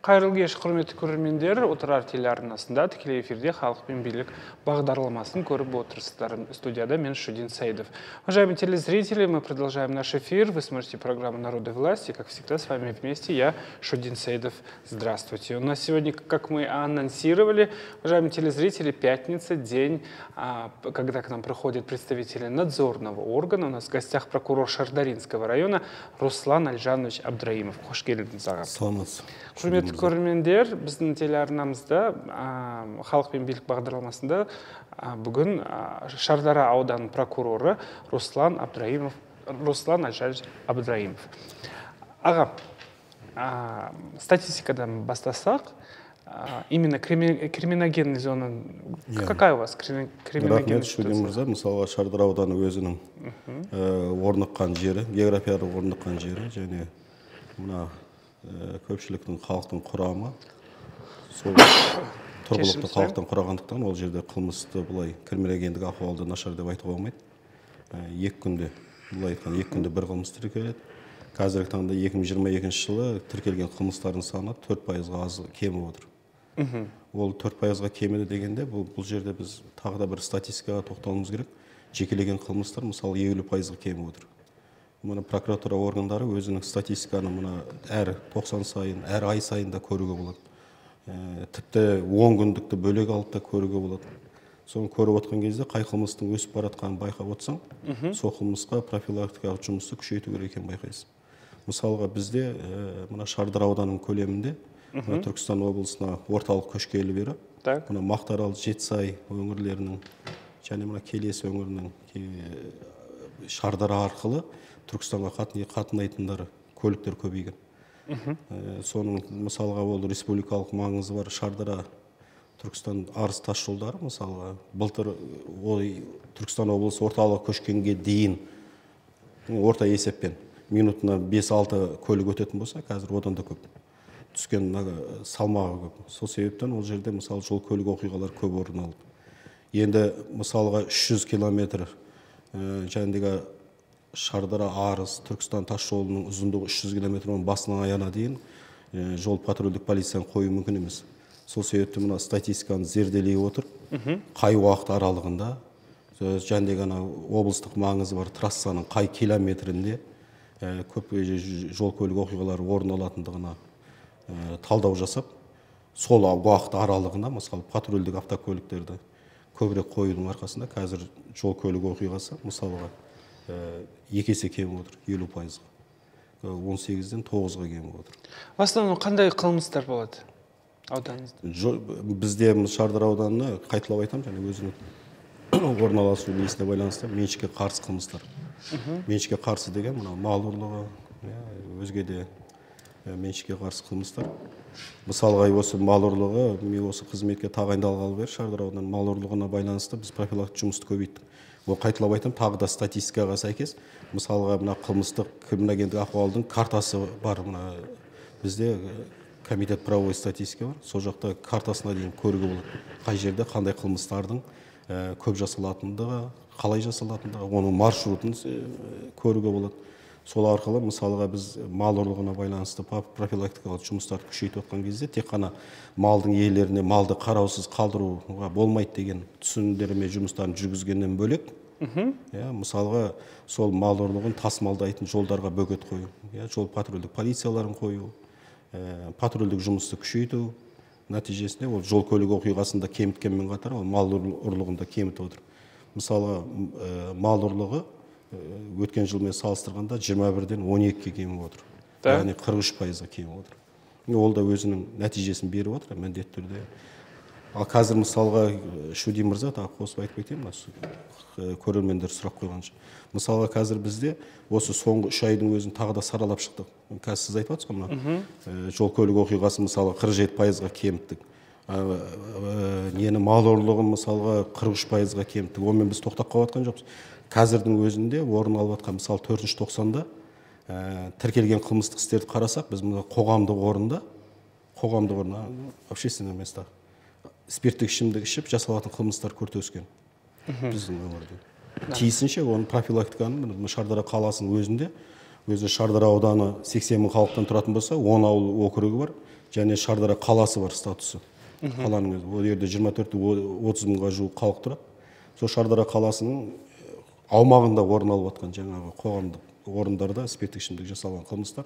Қайырлы кеш, құрметті көрермендер, Отырар телеарнасында тікелей эфирде «Халық пен билік» бағдарламасын көріп отырсыздар. Студияда мен Шудин Саидов. Уважаемые телезрители, мы продолжаем наш эфир. Вы смотрите программу «Народы власти». Как всегда, с вами вместе я, Шудин Саидов. Здравствуйте. У нас сегодня, как мы анонсировали, уважаемые телезрители, пятница, день, когда к нам приходят представители надзорного органа. У нас в гостях прокурор Шардаринского района Руслан Альжанович Абдраимов. Хош келдіңіз, аға. Құрметті көрермендер, біздің телеарнамызда «Халық пен билік» бағдарламасында бүгін Шардара ауданының прокуроры Руслан Альжанович Абдраимов. Аға, статистикадан бастасақ, именно криминогенный зона, какая у вас криминогенная ситуация? Мысалға Шардара ауданы өзінің орныққан жері, географиялық орныққан жері, және мына көпшіліктің халықтың құрамы, сол тұрғылықты халықтың құрағандықтан ол жерде қылмысты бұлай криминогендік ахуалды нашар деп айтуға болмайды. Екі күнде бір қылмыс тіркеледі. Қазіргі таңда 2022 жылы тіркелген қылмыстардың саны 4%-ға аз кеміп отыр. Ол 4%-ға кемеді дегенде бұл жерде біз тағы да бір статистикаға тоқталуымыз керек. Жекелеген қылмыстар мысалы 50%-ға кеміп отыр. Мұны прокуратура органдары өзінің статистиканы әр 90 сайын, әр ай сайында көруге болады. Тіпті 10 күндікті бөлек алып та көруге болады. Соны көріп отқан кезде қай қылмыстың өсіп баратқанын байқап отсаң, сол қылмысқа профилактикалық жұмысты күшейту керек екенін байқайсың. Мысалға бізде мына Шардара ауданының көлемінде Түркістан облысына орталық көшкелі бері, мына Мақтаарал, Жетісай өңірлерінің және мына Келес өңірінің Шардара арқылы Түркістанға қатынайтындар көліктер көбейген. Соның мысалға ол республикалық маңызы бар Шардара Түркістан Арыс тас жолдары мысалға былтыр Түркістан облысы орталығы көшкенге дейін орта есеппен минутына 5-6 көлік өтетін болса, қазір одан да көп. Түскен салмағы көп. Сол себептен ол жерде мысалы жол көлік оқиғалар көп орын алды. Енді мысалға 300 километр жәндегі Шардара Арыс Түркістан тас жолының ұзындығы 300 километрдің басынан аяғына дейін жол патрульдік полицияны қою мүмкін емес. Сол себепті мына статистиканы зерделей отыр. Қай уақыт аралығында жәндегі облыстық маңызы бар трассаның қай километрінде көп жол көлік оқиғалары орын алатындығына талдау жасап, сол уақыт аралығына мысалы патрульдік автокөліктерді көбірек қоюдың арқасында қазір жол көлік оқиғасы мысалға 2 есе кеміп отыр, 50%-ға. 18-ден 9-ға кеміп отыр. В основном қандай қылмыстар болады ауданыңызда? Бізде Шардара ауданына қайталап айтамын, және өзінің орналасу несіне байланысты меншікке қарсы қылмыстар. Меншікке қарсы деген мал ұрлығы, өзге де меншікке қарсы қылмыстар. Мысалға осы мал ұрлығы, мен осы қызметке тағайындалғалы бері Шардара ауданының мал ұрлығына байланысты біз профилактикалық жұмысты көбейттік. Ол қайталап айтам, тағы да статистикаға сәйкес, мысалға мына қылмыстық криминогендік ахуалдың картасы бар. Бізде комитет правовой статистика бар. Сол жақта картасына дейін көруге болады. Қай жерде қандай қылмыстардың көп жасалатындығы, қалай жасалатындығы, оның маршрутын көруге болады. Сол арқылы мысалға біз мал ұрлығына байланысты профилактикалық жұмыстарды күшейтіп отқан кезде тек қана малдың иелеріне малды қараусыз қалдыруға болмайды деген түсіндірме жұмыстарын жүргізгеннен бөлек, мысалға сол мал ұрлығын тасымалдайтын жолдарға бөгет қою, жол патрульдік полицияларын қою, патрульдік жұмысты күшейту нәтижесінде ол жол көлік оқиғасында кеміткенмен қатар ол мал ұрлығында кемітіп отыр. Мысалға мал ұрлығы өткен жылмен салыстырғанда 21-ден 12-ге кеміп отыр. Яғни 43%-ға кеміп отыр. Ол да өзінің нәтижесін беріп отыр, міндетті түрде. Ал қазір мысалға Шудин мырза тағы қосып айтып кетейін, көрермендер сұрақ қойғанша. Мысалға қазір бізде осы соңғы 3 айдың өзін тағы да саралап шықтық. Қазір сіз айтып отырсыз ғой, жол көлік оқиғасы мысалға 47%-ға кеміттік. Нені мал ұрлығын мысалға 43%-ға кеміттік. Онымен біз тоқтап қалып жатқан жоқпыз. Қазірдің өзінде орын алып жатқан мысалы 4-ші тоқсанда тіркелген қылмыстық істерді қарасақ, біз қоғамдық орында, общественное место, спирттік ішімдік ішіп жасалатын қылмыстар күрт өскен біздің өңірде. Тиісінше оны профилактиканы Шардара қаласының өзінде, өзі Шардара ауданы 80 мың халықтан тұратын болса, 10 ауыл округі бар, және Шардара қаласы бар статусы. Қаланың өзі. Ол жерде 24-30 мыңға жуық халық тұрады. Сол Шардара қаласының аумағында орын алып жатқан жаңағы қоғамдық орындарда спирттік ішімдік жасалған қылмыстар.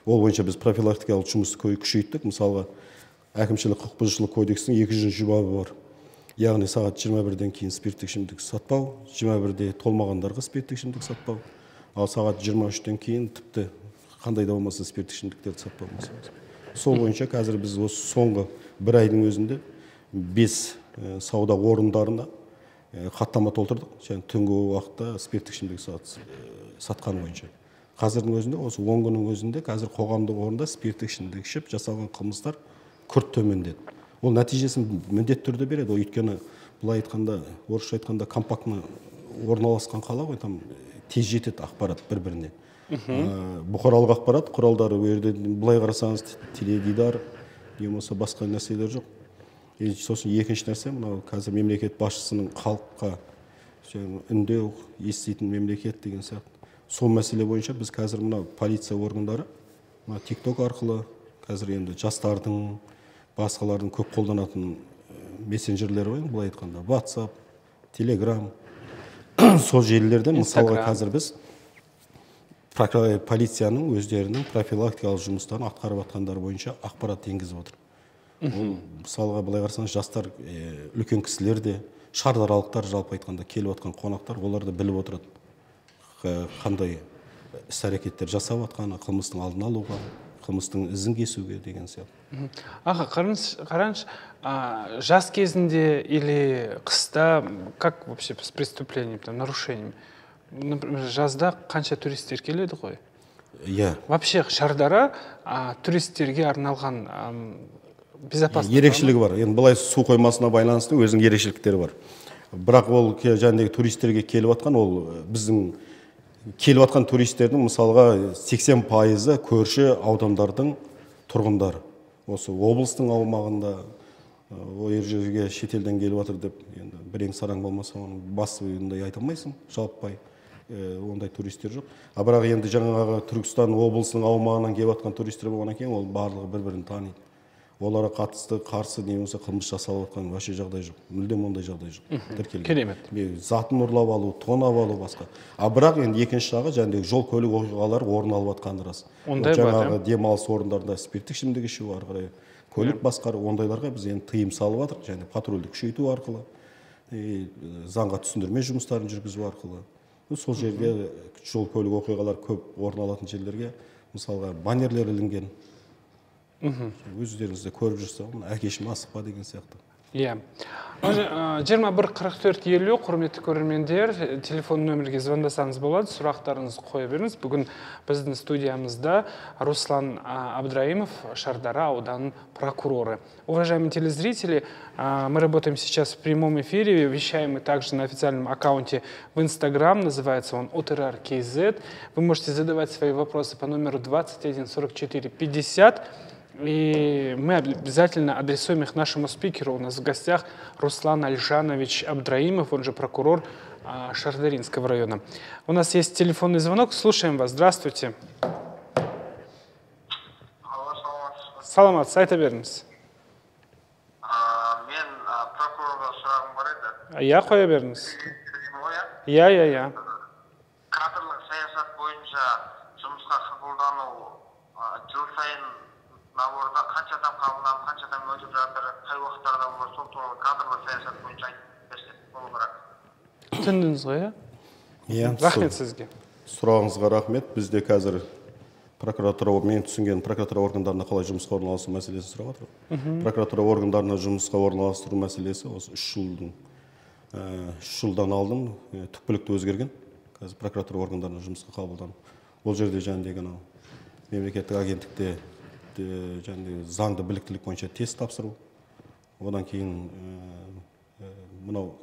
Ол бойынша біз профилактикалық жұмысты күшейттік. Мысалға, әкімшілік құқық бұзушылық кодексінің 200 бабы бар. Яғни сағат 21-ден кейін спирттік ішімдік сатпау, 21-де толмағандарға спирттік ішімдік сатпау, ал сағат 23-тен кейін тіпті қандай да болмаса спирттік ішімдіктерді сатпау. Сол бойынша қазір біз осы соңғы бір айдың өзінде 5 сауда орындарына хаттама толтырдық. Және түнгі уақытта спирттік ішімдік сатқан бойынша. Қазірдің өзінде, осы 10 күннің өзінде қазір қоғамдық орында спирттік ішімдік ішіп жасалған қылмыстар күрт төмендеді. Ол нәтижесін міндетті түрде береді. Өйткені былай айтқанда, орысша айтқанда компактны орналасқан қала ғой, там тез жетеді ақпарат бір-біріне. Бұқаралық ақпарат құралдары былай қарасаңыз теледидар, немесе басқа нәрселер жоқ. Сосын екінші нәрсе, мынау қазір мемлекет басшысының халыққа үндеу, еститін мемлекет деген сияқты. Сол мәселе бойынша біз қазір мына полиция органдары TikTok арқылы қазір енді жастардың, басқалардың көп қолданатын мессенджерлері бар, былай айтқанда WhatsApp, Telegram, сол желілерден мысалға қазір біз полицияның өздерінің профилактикалық жұмыстарын атқарып жатқандар бойынша ақпарат енгізіп отыр. Мысалға былай қарасаңыз, жастар, үлкен кісілер де, шардаралықтар жалпы айтқанда келіп жатқан қонақтар, олар да біліп отырады қандай іс-әрекеттер жасап жатқаны, қылмыстың алдын алуға, қылмыстың ізін кесуге деген сияқты. Аға, қараңыз, жас кезінде или қыста, как вообще с преступлением, нарушением? Например, жазда қанша туристер келеді ғой? Иә. Вообще Шардара туристерге арналған безопасность. Ерекшелігі бар. Енді былай су қоймасына байланысты өзінің ерекшеліктері бар. Бірақ ол жаңағы туристерге келіп жатқан, ол біздің келіп жатқан туристердің мысалға 80% көрші аудандардың тұрғындары. Осы облыстың аумағында ол жерге шетелден келіп жатыр деп, енді бірең сараң болмаса, оның басында айта алмайсың, жалпай ондай туристер жоқ. Бірақ енді жаңағы Түркістан облысының аумағынан келіп жатқан туристер болғаннан кейін, ол барлығы бір-бірін таниды. Оларға қатысты қарсы немесе қылмыс жасалып жатқан вообще жағдай жоқ. Мүлдем ондай жағдай жоқ. Керемет. Затын ұрлап алу, тонап алу басқа. Бірақ енді екінші жағы жаңағы жол көлік оқиғалары орын алып жатқаны рас. Ондай бар. Жаңағы демалыс орындарында спирттік ішімдік ішу ары қарай көлік басқару, ондайларға біз енді тыйым салып жатырмыз, және патрульді күшейту арқылы, заңға түсіндірме жұмыстарын жүргізу арқылы. Сол жерге жол көлік оқиғалар көп орын алатын жерлерге мысалға баннерлер ілінген. Өздеріңізде көріп жүрсем, әкешім асықпа деген сияқты. Иә. 21-44-50, құрметті көрермендер, телефон нөмірге звондасаңыз болады, сұрақтарыңызды қоя беріңіз. Бүгін біздің студиямызда Руслан Абдраимов, Шардара ауданының прокуроры. Уважаемые телезрители, мы работаем сейчас в прямом эфире, вещаем мы также на официальном аккаунте в Instagram, называется он OTRR.KZ. Вы можете задавать свои вопросы по номеру 21 44 50. И мы обязательно адресуем их нашему спикеру. У нас в гостях Руслан Альжанович Абдраимов, он же прокурор Шардаринского района. У нас есть телефонный звонок. Слушаем вас. Здравствуйте. Саламат, сайта беріңіз. Мен прокурорға сұрағым бар еді. Я қоя беріңіз. Я. Кадрлық саясат бойынша жұмысқа қабылдану жыл сайын наборда қанша адам қабылданып, қанша адам өтіп жатыр, қай уақыттарда олар сол туралы кадрлық саясат бойынша айтып берсе болу керек. Түсіндіңіз ғой, иә? Рахмет сізге. Сұрағыңызға рахмет. Бізде қазір прокуратура, мен түсінген прокуратура органдарына қалай жұмысқа орналасу мәселесі сұрап жатыр. Прокуратура органдарына жұмысқа орналастыру мәселесі осы 3 жылдан алдын түпкілікті өзгерген. Қазір прокуратура органдарына жұмысқа қабылданып. Ол жерде жаңағы мемлекеттік агенттікте заңды біліктілік бойынша тест тапсыру. Одан кейін мынау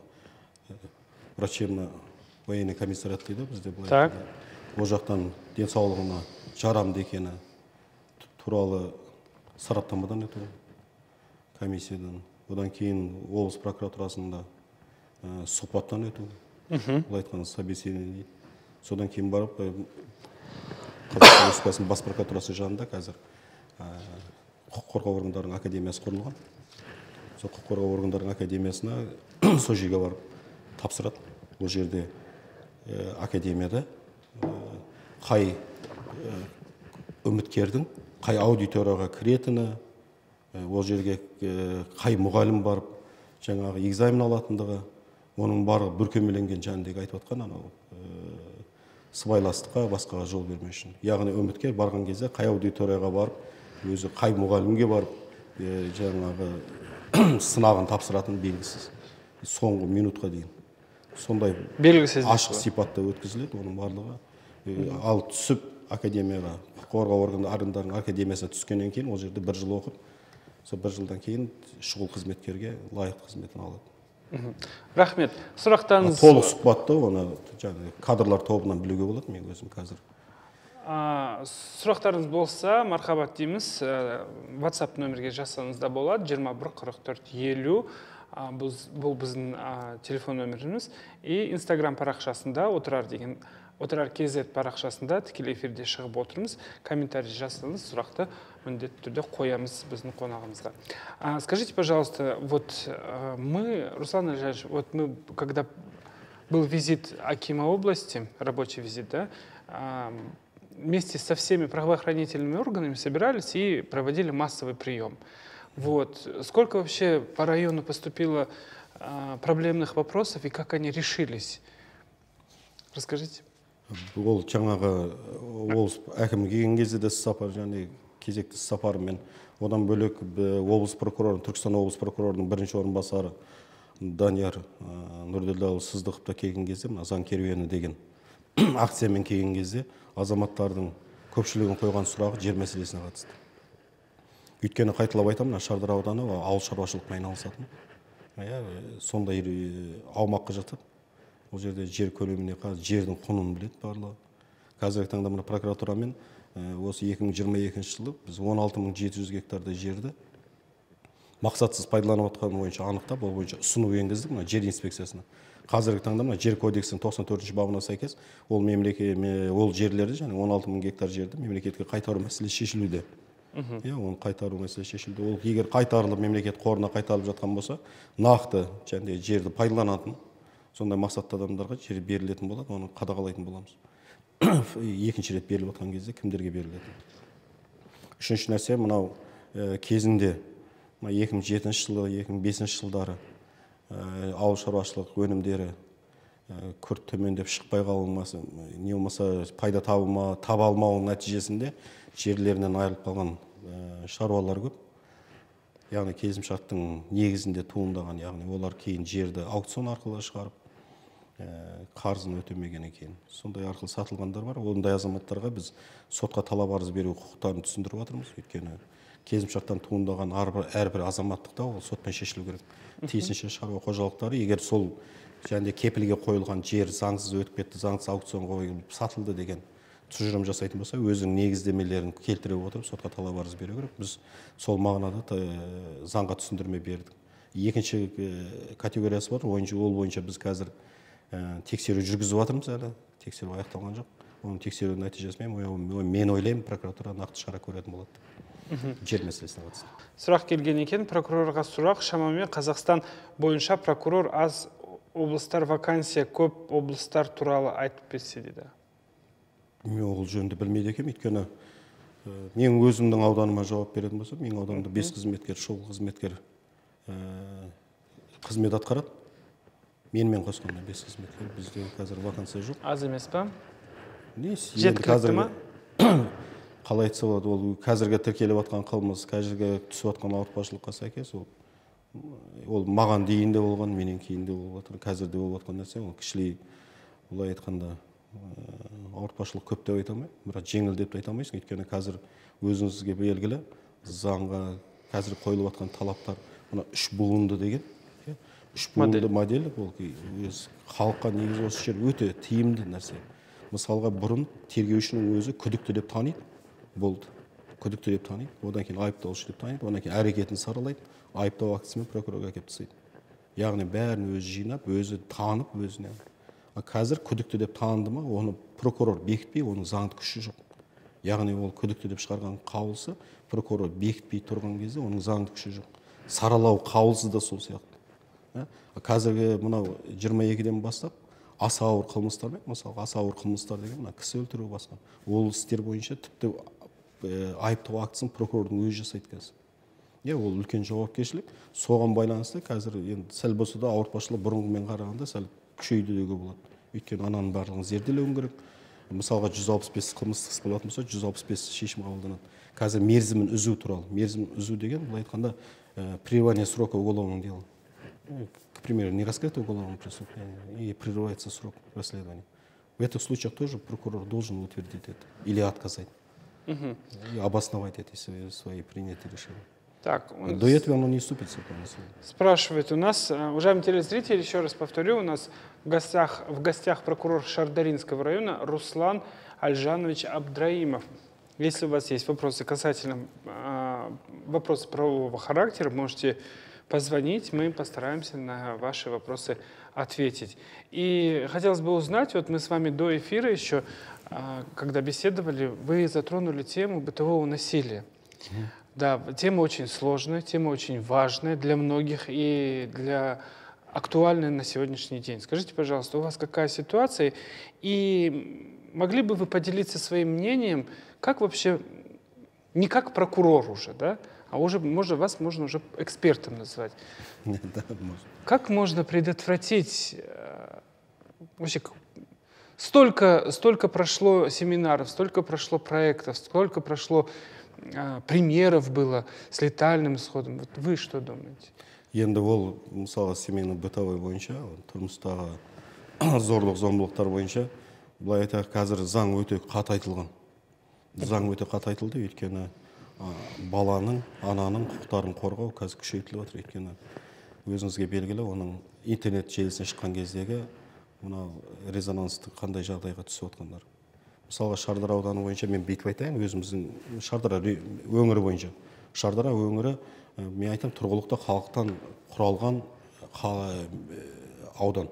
врачебно-военный комиссариат дейді бізде. Так. Ол жақтан денсаулығына жарамды екені туралы сараптамадан өту комиссиядан. Одан кейін облыс прокуратурасында сұхбаттан өту. Бұл айтқанда собеседование дейді. Содан кейін барып Қазақстан Республикасының бас прокуратурасы жанында қазір құқық қорғау органдарының академиясы құрылған. Сол құқық қорғау органдарының академиясына сол жерге барып тапсырады. Ол жерде академияда қай үміткердің қай аудиторияға кіретіні, ол жерге қай мұғалім барып жаңағы экзамен алатындығы, оның барлығы бүркемеленген жөніндегі айтып отқан анау сыбайластыққа, басқаға жол бермеу үшін. Яғни үміткер барған кезде қай аудиторияға барып, өзі қай мұғалімге барып, жаңағы сынағын тапсыратын белгісіз. Соңғы минутқа дейін. Сондай белгісіз ашық сипатта өткізіледі оның барлығы. Ал түсіп академияға, құқық қорғау органдарының академиясына түскеннен кейін ол жерде 1 жыл оқып, сол 1 жылдан кейін шұғыл қызметкерге лайықты қызметін алады. Рахмет. Сұрақтарыңыз толық сұхбатты оны кадрлар тобынан білуге болады, мен өзім қазір. Сұрақтарыңыз болса, мархабат дейміз. WhatsApp нөмірге жазсаңыз да болады. 21 44 50. Бұл біздің телефон нөміріміз. И Instagram парақшасында отырар KZ парақшасында тікелей эфирде шығып отырмыз. Комментарий жазсаңыз, сұрақты міндетті түрде қоямыз біздің қонағымызға. Скажите, пожалуйста, вот мы, Руслан Ильич, вот мы, когда был визит Акима области, рабочий визит, да, вместе со всеми правоохранительными органами собирались и проводили массовый прием. Вот. Сколько вообще по району поступило проблемных вопросов и как они решились? Расскажите. Ол жаңағы облыс әкімі келген кезде де сапар, және кезекті сапарымен, одан бөлек облыс прокуроры, Түркістан облыс прокурорының бірінші орынбасары Данияр Нұрділдәұлы Сыздықов та келген кезде, заң керуені деген акциямен келген кезде азаматтардың көпшілігін қойған сұрағы жер мәселесіне қатысты. Өйткені қайталап айтамын, Шардара ауданы ауыл шаруашылықпен айналысатын. Сондай аумаққа жатады. Ол жерде жер көлеміне жердің құнын біледі барлығы. Қазіргі таңда мына прокуратурамен осы 2022 жылы біз 16.700 гектардай жерді мақсатсыз пайдаланып отқан бойынша анықтап, ол бойынша ұсыну енгіздік мына жер инспекциясына. Қазіргі таңда мына жер кодексінің 94 бабына сәйкес ол жерлерді, және 16.000 гектар жерді мемлекетке қайтару мәселесі шешілуде. Оны қайтару мәселесі шешілді. Ол егер қайтарылып мемлекет қорына қайтарылып жатқан болса, нақты жерді пайдаланатын, сондай мақсатты адамдарға жер берілетін болады, оны қадағалайтын боламыз. Екінші рет беріліп отқан кезде кімдерге беріледі? Үшінші нәрсе, мынау кезінде 2007 жылы, 2005 жылдары ауыл шаруашылық өнімдері күрт төмендеп шықпай қалмасы, не болмаса пайда таба алмауының нәтижесінде жерлерінен айырылып қалған шаруалар көп. Яғни келісімшарттың негізінде туындаған, яғни олар кейін жерді аукцион арқылы шығарып, қарызын өтемегеннен кейін сондай арқылы сатылғандар бар. Ондай азаматтарға біз сотқа талап арыз беру құқықтарын түсіндіріп жатырмыз. Өйткені келісімшарттан туындаған әрбір азаматтықта ол сотпен шешілу керек. Тиісінше шаруа қожалықтары, егер сол кепілге қойылған жер заңсыз өтіп кетті, заңсыз аукцион қойылып сатылды деген тұжырым жасайтын болса, өзінің негіздемелерін келтіре отырып сотқа талап арыз беру керек. Біз сол мағынада заңға түсіндірме бердік. Екінші категориясы бар, ол бойынша біз қазір тексеру жүргізіп жатырмыз әлі. Тексеру аяқталған жоқ. Оның тексеру нәтижесімен мен ойлаймын, прокуратура нақты шара көретін болады. Жер мәселесіне қатысты. Сұрақ келген екен, прокурорға сұрақ. Шамамен Қазақстан бойынша прокурор аз, облыстар вакансия көп, облыстар туралы айтып берсе дейді. Мен ол жөнді білмейді екем, өйткені мен өзімнің ауданыма жауап беретін болсам, менің ауданымда 5 қызметкер, шұғыл қызметкер қызмет атқарады. Менімен қосқанда 5 қызметкер, бізде қазір вакансия жоқ. Аз емес па? Жеткілікті ма? Қалай айтса болады, ол қазіргі тіркеліп жатқан қылмыс, қазіргі түсіп жатқан ауыртпашылыққа сәйкес, ол маған дейін де болған, менен кейін де болып жатыр. Қазірде болып жатқан нәрсе, ол кішілей, олай айтқанда ауыртпашылық көп деп айта алмаймын, бірақ жеңіл деп айта алмайсың. Өйткені қазір өзіңізге белгілі заңға қазір қойылып жатқан талаптар, мына 3 буынды деген, 3 буынды модель, ол халыққа негізі осы жер өте тиімді нәрсе. Мысалға бұрын тергеушінің өзі күдікті деп таниды, болды. Күдікті деп таниды, одан кейін айыпталушы деп таниды, одан кейін әрекетін саралайды, айыптау актісімен прокурорға әкеліп тастайды. Яғни бәрін өзі жинап, өзі танып, өзіне. Қазір күдікті деп таныды ма, оны прокурор бекітпей, оның заңды күші жоқ. яғни ол күдікті деп шығарған қаулысы прокурор бекітпей тұрған кезде оның заңды күші жоқ. Саралау қаулысы да сол сияқты. Қазіргі мынау 22-ден бастап аса ауыр қылмыстар, мысалы аса ауыр қылмыстар деген мына кісі өлтіру басқа. Ол істер бойынша тіпті айыптау актісін прокурордың өзі жасайды қазір. Ол үлкен жауапкершілік. Соған байланысты қазір енді сәл болса да ауыртпашылық бұрынғымен қарағанда сәл күшейді деуге болады. Өйткені ананың барлығын зерделеуің керек. Мысалға 165 қылмыстық іс болатын болса, 165 шешім қабылданады. Қазір мерзімін үзу туралы. Мерзімін үзу деген, былай айтқанда, прерывание срока уголовного дела. К примеру, не раскрыто уголовное преступление и прерывается срок расследования. В этих случаях тоже прокурор должен утвердить это или отказать. И обосновать эти свои принятые решения. Так, до этого оно не вступится. Спрашивает у нас, уважаемый телезритель, еще раз повторю, у нас в гостях прокурор Шардаринского района Руслан Альжанович Абдраимов. Если у вас есть вопросы касательно вопросы правового характера, можете позвонить, мы постараемся на ваши вопросы ответить. И хотелось бы узнать, вот мы с вами до эфира еще, когда беседовали, вы затронули тему бытового насилия. Да, тема очень сложная, тема очень важная для многих и актуальная на сегодняшний день. Скажите, пожалуйста, у вас какая ситуация? И могли бы вы поделиться своим мнением, как вообще, не как прокурор уже, да, а уже, вас можно уже экспертом назвать. Да, можно. Как можно предотвратить, вообще, столько прошло семинаров, столько прошло проектов, столько прошло примеров было с летальным исходом. Вот вы что думаете? Енді ол, мысалы, семейный бытовой бойынша, тұрмыстағы зорлық-зомбылықтар бойынша, былай айтайық, қазір заң өте қатайтылған. Заң өте қатайтылды, өйткені баланың, ананың құқықтарын қорғау қазір күшейтіліп отыр. Өйткені өзіңізге белгілі, оның интернет желісіне шыққан кездегі мына резонансты қандай жағдайға түсіп отқандар. Мысалға Шардара ауданы бойынша мен бүйтіп айтайын, өзіміздің Шардара өңірі бойынша. Шардара өңірі, мен айтам, тұрғылықты халықтан құралған аудан.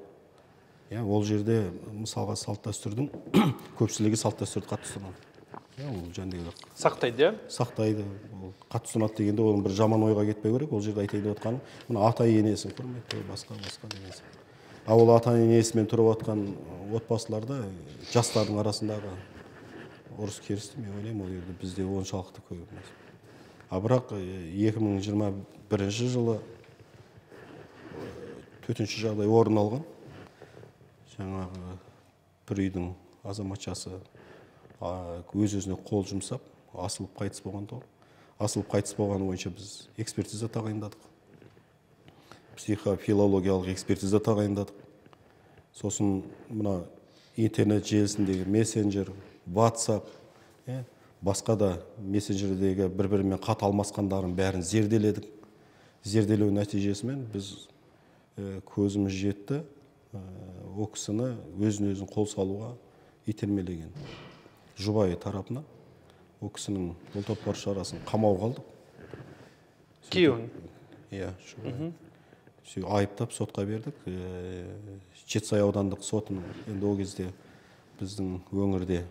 Ол жерде мысалға салт-дәстүрдің көпшілігі салт-дәстүрді қатты ұстанады. Сақтайды? Сақтайды. Қатты ұстанады дегенде оның бір жаман ойға кетпеу керек. Ол жерде айтайын деп отқаным, мына ата-енесін құрметтеу, басқа деген сияқты. Ол ата-енесімен тұрып отқан отбасыларда жастардың арасындағы ұрыс керісті, мен ойлаймын, ол жерде бізде оншалықты көп емес. Бірақ 2021 жылы төтенше жағдай орын алған. Жаңағы бір үйдің азаматшасы өз-өзіне қол жұмсап, асылып қайтыс болған. Асылып қайтыс болғаны бойынша біз экспертиза тағайындадық. Психофилологиялық экспертиза тағайындадық. Сосын мына интернет желісіндегі мессенджер, WhatsApp, басқа да мессенджердегі бір-бірімен хат алмасқандарын бәрін зерделедік. Зерделеу нәтижесімен біз көзіміз жетті, о кісіні өзін қол салуға итермелеген. Жұбайы тарапына о кісінің бұлтартпар шарасын қамауға алдық. Күйеуін? Иә, айыптап сотқа бердік. Жетісай аудандық сотының, енді ол кезде біздің өңірде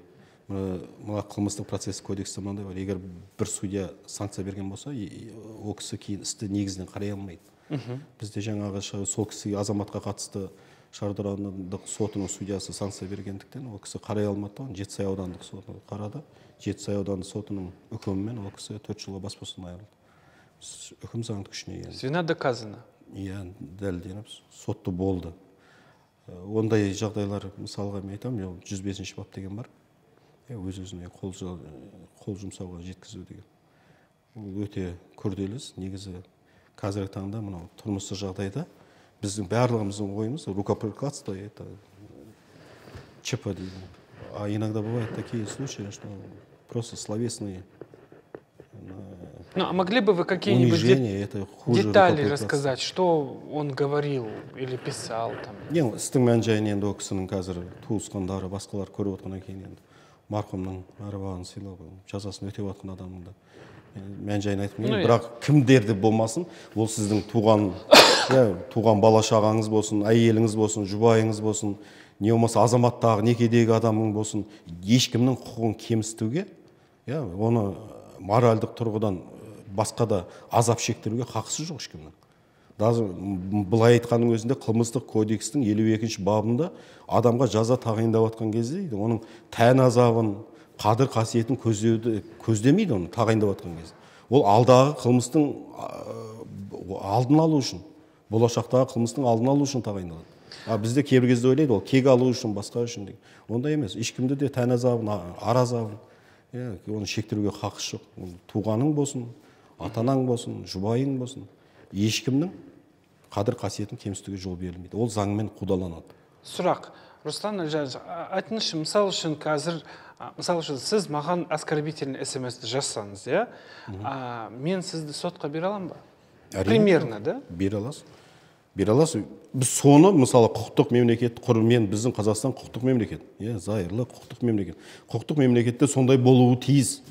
мына қылмыстық процесс кодексі мынандай бар. Егер бір судья санкция берген болса, о кісі кейін істі негізінен қарай алмайды. Бізде жаңағы сол кісіге азаматқа қатысты Шардара аудандық сотының судьясы санкция бергендіктен ол кісі қарай алмады. Жетісай аудандық сотына қарады. Жетісай аудандық сотының үкімімен ол кісі 4 жылға бас бостандығынан айырылды. Үкім заңды күшіне енді. Вина доказана. Иә, дәлелденіп, сотты болды. Ондай жағдайлар, мысалға мен айтам, 105-ші бап деген бар. Өз-өзіне қол жұмсауға жеткізу деген. Ол өте күрделі іс. Негізі қазіргі таңда мынау тұрмыстық жағдайда біздің барлығымыздың ойымыз рукоприкладство, это ЧП дейді. А иногда бывают такие случаи, что просто словесные Ну, а могли бы вы какие-нибудь детали рассказать, что он говорил или писал там? Нет, істің мән жайын енді о кісінің қазір туысқандары, басқалар көріп отқаннан кейін енді марқұмның арбағын сыйлап, жазасын өтеп отқан адамның да мән жайын айтмаймын. Бірақ кімдерді болмасын, ол сіздің туған бала шағаңыз болсын, әйеліңіз болсын, жұбайыңыз болсын, не болмаса азаматтағы некедегі адамың болсын, ешкімнің құқығын кемсітуге Оны моральдық тұрғыдан басқа да азап шектіруге хақысы жоқ ешкімнің. Даже былай айтқанның өзінде қылмыстық кодекстің 52-ші бабында адамға жаза тағайындап жатқан кезде оның тән азабын, қадір қасиетін көздемейді, оны тағайындап жатқан кезде. Ол алдағы қылмыстың алдын алу үшін, болашақтағы қылмыстың алдын алу үшін тағайындалады. Бізде кейбір кезде ойлайды, ол кек алу үшін, басқа үшін деген. Ондай емес. Ешкімде де тән азабын, ар азабын, оны шектіруге хақысы жоқ. Туғаның болсын, атанаң болсын, жұбайың болсын, ешкімнің қадір қасиетін кемсітуге жол берілмейді. Ол заңмен қудаланады. Сұрақ. Руслан Әлжанович, айтыңызшы, мысал үшін қазір, сіз маған оскорбительный смс-ді жазсаңыз, мен сізді сотқа бере аламын ба? Примерно, да? Бере аласыз. Бере аласыз. Біз соны, мысалы, құқықтық мемлекет құрымен, біздің Қазақстан құқықтық мемлекет. Зайырлы құқықтық мемлекет. Құқықтық мемлекетте сондай болуы тиіс.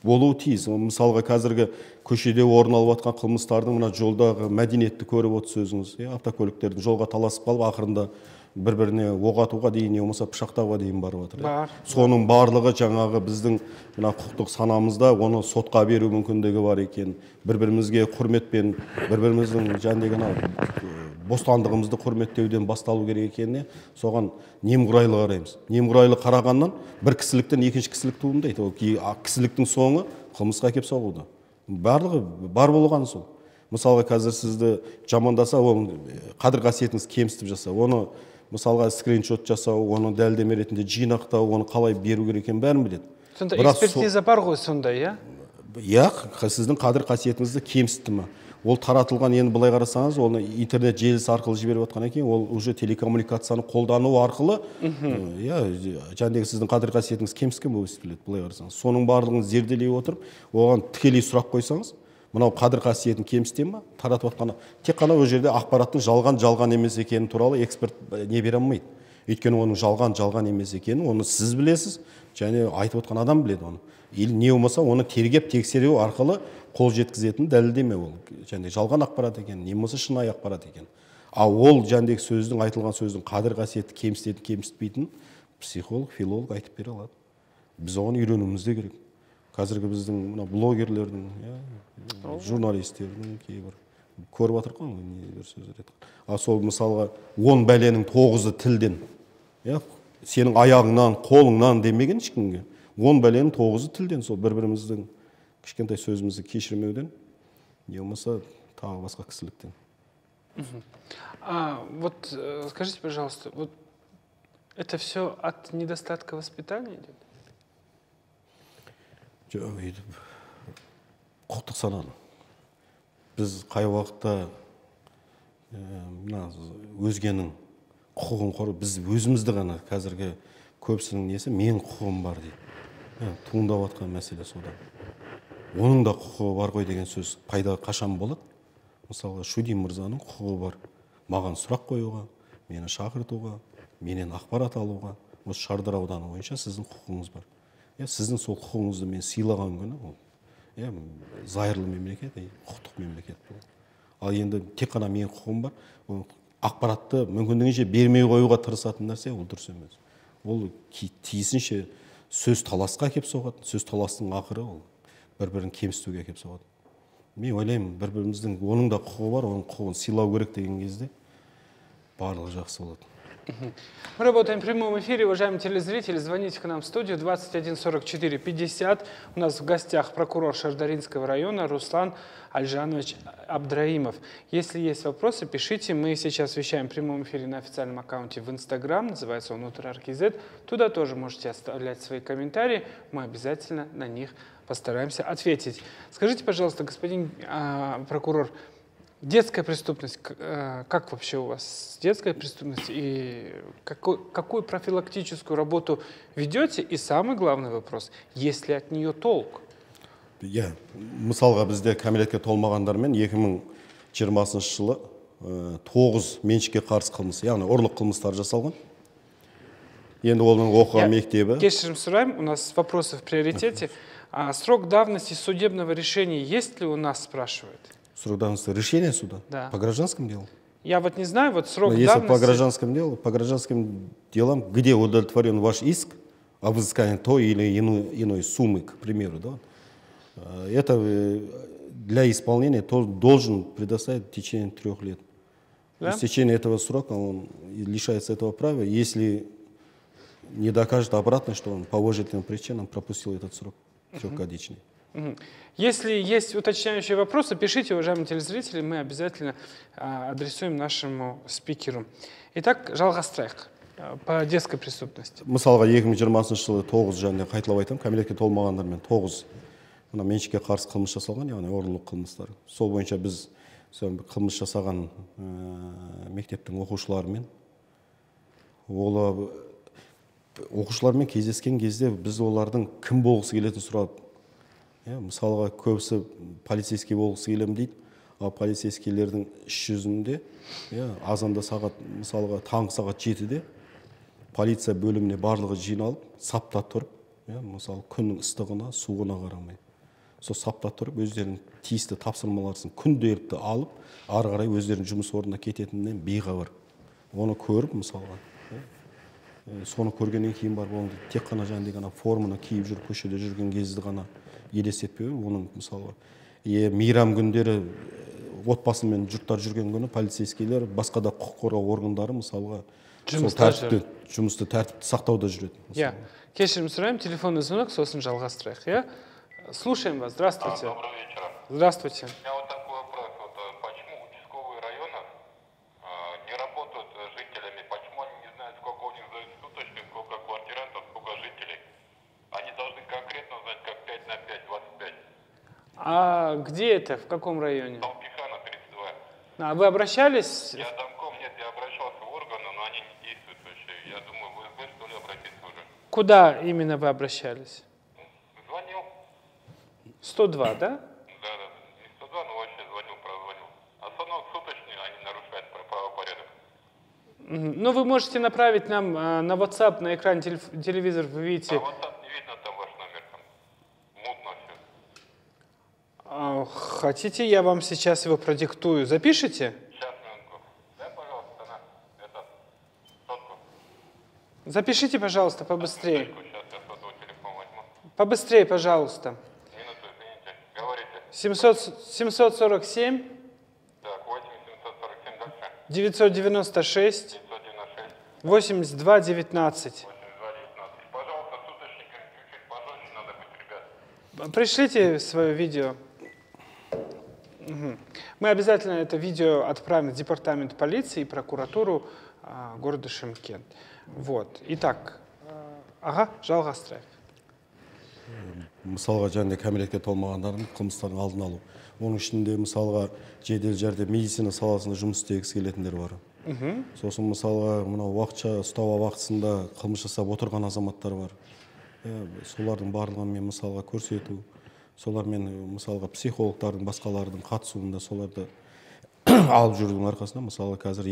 Мысалға қазіргі көшеде орын алып жатқан қылмыстардың мына жолдағы мәдениетті көріп отырсыз өзіңіз. Автокөліктердің жолға таласып қалып, ақырында бір-біріне оқ атуға дейін, не болмаса пышақтауға дейін барып жатыр. Соның барлығы жаңағы біздің құқықтық санамызда оны сотқа беру мүмкіндігі бар екен. Бір-бірімізге құрметпен, бір-біріміздің бостандығымызды құрметтеуден басталу керек екеніне соған немқұрайлы қараймыз. Немқұрайлы қарағаннан бір кісіліктен екінші кісілік туындайды. Ол кісіліктің соңы қылмысқа әкеп соғуда. Барлығы бар болғаны сол. Мысалға қазір сізді жамандаса, ол қадір қасиетіңіз кемсітіп жаса, оны мысалға скриншот жасау, оны дәлелдеме ретінде жинақтау, оны қалай беру керек екенін бәрін біледі. Сонда экспертиза бар ғой сонда, сіздің қадір қасиетіңізді кемсітті ме? Ол таратылған, енді былай қарасаңыз, оны интернет желісі арқылы жіберіп отқан екен, ол уже телекоммуникацияны қолдану арқылы, жаңағы сіздің қадір қасиетіңіз кемсіткен болып естіледі, былай қарасаңыз. Соның барлығын зерделей отырып, оған тікелей сұрақ қойсаңыз, мынау қадір қасиетін кемсітеді ме? Таратып отқаны. Тек қана ол жерде ақпараттың жалған емес екені туралы эксперт не бере алмайды. Өйткені оның жалған емес екенін оны сіз білесіз, және айтып отқан адам біледі оны. Или не болмаса оны тергеп тексеру арқылы қол жеткізетін дәлелдеме ол. Және жалған ақпарат екен, не болмаса шынайы ақпарат екен. Ол жәндегі сөздің, айтылған сөздің қадір қасиеті кемсітеді, кемсітпейтін психолог, филолог айтып бере алады. Біз оған үйренуіміз де керек. Қазіргі біздің блогерлердің, журналистердің кейбір көріп жатыр ғой, небір сөздер айтқан. Сол мысалға 10 бәленің 9-ы тілден. Сенің аяғыңнан, қолыңнан демеген ешкімге. 10 бәленің 9-ы тілден, сол бір-біріміздің кішкентай сөзімізді кешірмеуден, не болмаса тағы басқа кісіліктен. Вот скажите, пожалуйста, вот это все от недостатка воспитания идет? Құқықтық сананы. Біз қай уақытта өзгенің құқығын қору, біз өзімізді ғана қазіргі көпсінің несі мен құқығым бар дейді. Туындап жатқан мәселе содан. Оның да құқығы бар ғой деген сөз пайда қашан болады? Мысалға Шудин мырзаның құқығы бар. Маған сұрақ қоюға, мені шақыртуға, менен ақпарат алуға. Осы Шардара ауданы бойынша сіздің құқығыңыз бар. Сіздің сол құқығыңызды мен сыйлаған күні, зайырлы мемлекет, құқықтық мемлекет болады. Ал енді тек қана менің құқығым бар, ақпаратты мүмкіндігінше бермей қоюға тырысатын нәрсе, ол дұрыс емес. Ол тиісінше сөз таласқа әкеп соғады, сөз таластың ақыры ол бір-бірін кемсітуге әкеп соғады. Мен ойлаймын, бір-біріміздің оның да құқығы бар, оның құқығын сыйлау керек деген кезде барлығы жақсы болады. Мы работаем в прямом эфире, уважаемые телезрители. Звоните к нам в студию 21 44 50. У нас в гостях прокурор Шардаринского района Руслан Альжанович Абдраимов. Если есть вопросы, пишите. Мы сейчас вещаем в прямом эфире на официальном аккаунте в Инстаграм. Называется он УтрАРКЗ. Туда тоже можете оставлять свои комментарии. Мы обязательно на них постараемся ответить. Скажите, пожалуйста, господин прокурор, детская преступность, как вообще у вас с детской преступностью и какую профилактическую работу ведете? И самый главный вопрос, есть ли от нее толк? Мысалға бізде кәмелетке толмағандармен 2020 жылы 9 меншікке қарсы қылмыс, яғни ұрлық қылмыстары жасалған. Енді оның оқыған мектебі. Кешірім сұраймын, у нас вопросы в приоритете. Срок давности судебного решения есть ли у нас, спрашивает? Срок давности решения суда? Да. По гражданскому делу? Я вот не знаю, вот срок если давности... по гражданским делам, где удовлетворен ваш иск взыскания той или иной суммы, к примеру, да, это для исполнения должен предоставить в течение 3 лет. Да? В течение этого срока он лишается этого права, если не докажет обратно, что он по уважительным причинам пропустил этот срок 3-годичный. Если есть уточняющие вопросы, пишите, уважаемые телезрители, мы обязательно адресуем нашему спикеру. Итак, жалғастырайық по детской преступности. Мысалға 2020 жылы 9 және қайталап айтамын, кәмелетке толмағандармен 9 меншікке қарсы қылмыс жасалған, яғни ұрлық қылмыстары. Сол бойынша біз қылмыс жасаған мектептің оқушыларымен оқушылармен кездескен кезде біз олардың кім болғысы келетінін сұрадық. Мысалға көбісі полицейский болғысы келем дейді, ал полицейскийлердің іс жүзінде азанда сағат, мысалға таңғы сағат 7-де полиция бөліміне барлығы жиналып, сапта тұрып, мысалы күннің ыстығына, суығына қарамай. Сол сапта тұрып, өздерінің тиісті тапсырмаларын күнделікті алып, ары қарай өздерінің жұмыс орнына кететінінен бейхабар. Оны көріп, мысалға, соны көргеннен кейін барып, оны тек қана жаңағыдай форманы киіп жүріп, көшеде жүрген кезді ғана елестетпеу, оның мысалға мейрам күндері отбасымен жұрттар жүрген күні полицейскийлер, басқа да құқық қорғау органдары мысалға жұмысты тәртіпті сақтауда жүреді. Кешірім сұраймын, телефонный звонок, сосын жалғастырайық. Слушаем вас. Здравствуйте. Добрый вечер. Здравствуйте. У меня вот такой вопрос. Почему участковые районов не работают с жителями? Почему они не знают, сколько у них за суточных, сколько квартирантов, сколько жителей? Они должны конкретно знать, как 5 на 5, 25. А где это? В каком районе? Там Пихана, 32. А вы обращались? Я домком, нет, я обращался в органы, но они не действуют вообще. Я думаю, вы что ли обратиться уже? Куда именно вы обращались? Звонил. 102, да? Да, не 102, но вообще прозвонил. Остановок суточные, они нарушают правопорядок. Ну, вы можете направить нам на WhatsApp, на экран телевизор, вы видите. А WhatsApp не видно, там ваш номер, там мутно все. Хотите, я вам сейчас его продиктую. Запишите? Сейчас, минутку. Дай, пожалуйста, сотку. Запишите, пожалуйста, побыстрее. Сейчас я сотовый телефон возьму. Побыстрее, пожалуйста. 747. Так, 8747 дальше. 996. 82 19. Пожалуйста, суточниками чуть-чуть пожестче надо быть, ребят. Пришлите свое видео. Мы обязательно это видео отправим в департамент полиции и прокуратуру города Шымкент. Вот. Итак, жалғастырайық. Мысалға және кәмелетке толмағандардың қылмыстардың алдын алу. Оның ішінде мысалға жедел жәрдем медицина саласында жұмыс істегісі келетіндер бар. Сосын мысалға мынау уақытша ұстау уақытысында қылмыс жасап отырған азаматтар бар. Солардың барлығын мен мысалға көрсету, солармен мысалға психологтардың басқалардың қатысуында соларды алып жүрудің арқасында мысалға қазір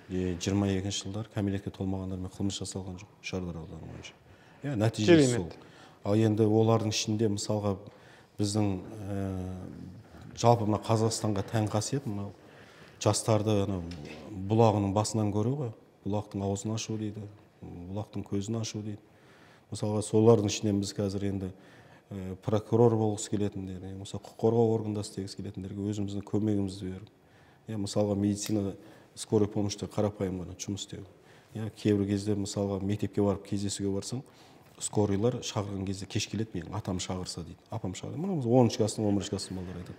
2021-22 жылдар кәмелетке толмағандармен қылмыс жасалған жоқ Шардара ауданы бойынша. Нәтижесі сол. Ал енді олардың ішінде мысалға біздің жалпы мына Қазақстанға тән қасиет мынау жастарды бұлағының басынан көру ғой, бұлақтың аузын ашу дейді, бұлақтың көзін ашу дейді. Мысалға солардың ішінен біз қазір енді прокурор болғысы келетіндер, құқық қорғау органында істегісі келетіндерге өзіміздің көмегімізді беріп, мысалға медицина скорый помощьта қарапайым ғана жұмыс істеу. Кейбір кезде мысалға мектепке барып кездесуге барсаң, скорыйлар шақырған кезде кеш келеді, менің атам шақырса дейді, апам шақырды. Мына 10-шы кластың, 11-шы кластың балалар айтады.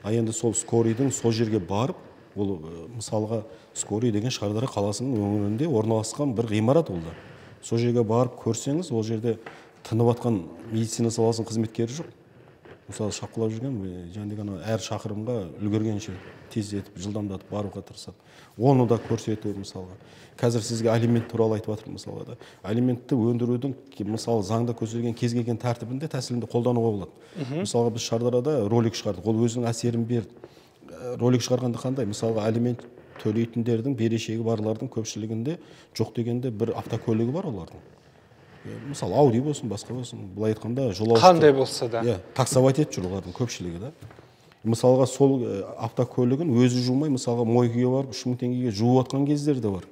А енді сол скорыйдың сол жерге барып, ол мысалға скорый деген Шардара қаласының өңірінде орналасқан бір ғимарат ол да. Сол жерге барып көрсеңіз, ол жерде тынып атқан медицина саласының қызметкері жоқ. Мысалы шапқылап жүрген, жаңағы әр шақырымға үлгергенше тездетіп, жылдамдатып баруға тырысады. Оны да көрсету мысалға. Қазір сізге алимент туралы айтып жатыр мысалға да. Алиментті өндірудің мысалы заңда көзделген кез келген тәртібінде тәсілінде қолдануға болады. Мысалға біз Шардарада ролик шығардық. Ол өзінің әсерін берді. Ролик шығарғанда қандай? Мысалға алимент төлейтіндердің берешегі барлардың көпшілігінде жоқ дегенде бір автокөлігі бар олардың. Мысалы Ауди болсын, басқа болсын, былай айтқанда жолаушы қандай болса да. Таксовать етіп жүр олардың көпшілігі да. Мысалға сол автокөлігін өзі жумай, мысалға мойкеге барып 3 мың теңгеге жуып атқан кездері де бар.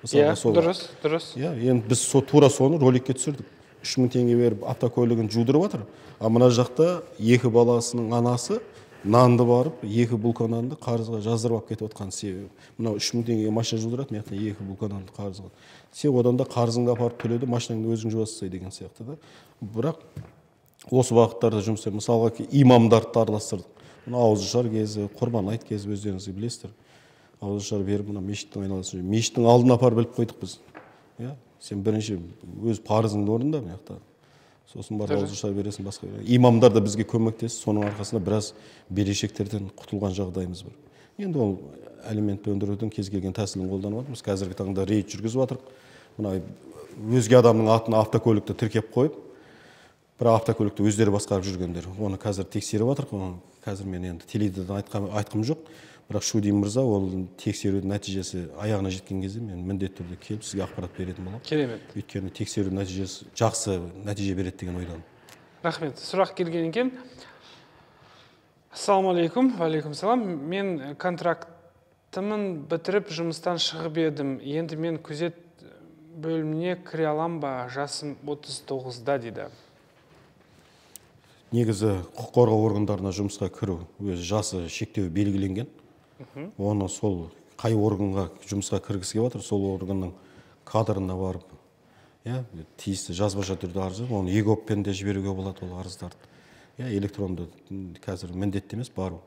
Иә, дұрыс. Иә, енді біз тура соны роликке түсірдік. 3000 теңге беріп автокөлігін жудырып жатыр. А мына жақта екі баласының анасы нанды барып, екі булка нанды қарызға жаздырып алып кетіп отқан себебі. Мынау 3000 теңгеге машина жудырады, мына екі булка нанды қарызға. Сен одан да қарызыңды апарып төледі, машинаңды өзің жуасың деген сияқты да. Бірақ осы бағыттарда жұмыс істеп, мысалға имамдарды араластырдық. Мына ауызашар кезі, құрбан айт кезі өздеріңіз білесіздер. Ауызашар беріп, мына мешіттің айналасын. Мешіттің алдына апарып біліп қойдық біз. Иә, сен бірінші өз парызыңды орында мына жақта. Сосын барып ауызашар бересің басқа. Имамдар да бізге көмектесті, соның арқасында біраз берешектерден құтылған жағдайымыз бар. Енді ол алиментті өндірудің кез келген тәсілін қолданып жатырмыз. Қазіргі таңда рейд жүргізіп жатырмыз. Мына өзге адамның атына автокөлікті тіркеп қойып, бір автокөлікті өздері басқарып жүргендер. Оны қазір тексеріп жатырмыз. Қазір мен енді теледидардан айтқым жоқ. Бірақ Шудин мырза ол тексерудің нәтижесі аяғына жеткен кезде мен міндетті түрде келіп сізге ақпарат беретін боламын. Керемет. Өйткені тексеру нәтижесі жақсы нәтиже береді деген ойдамын. Рахмет. Сұрақ келген екен. Ассалаумағалейкум. Уағалейкум салам. Мен контрактымын бітіріп жұмыстан шығып едім. Енді мен күзет бөліміне кіре алам ба? Жасым 39-да дейді. Негізі құқық қорғау органдарына жұмысқа кіру өз жасы шектеу белгіленген. Оны сол қай органға жұмысқа кіргісі келіп жатыр, сол органның кадрына барып, тиісті жазбаша түрде арыз, оны егоппен де жіберуге болады ол арыздарды. Электронды қазір міндетті емес бару.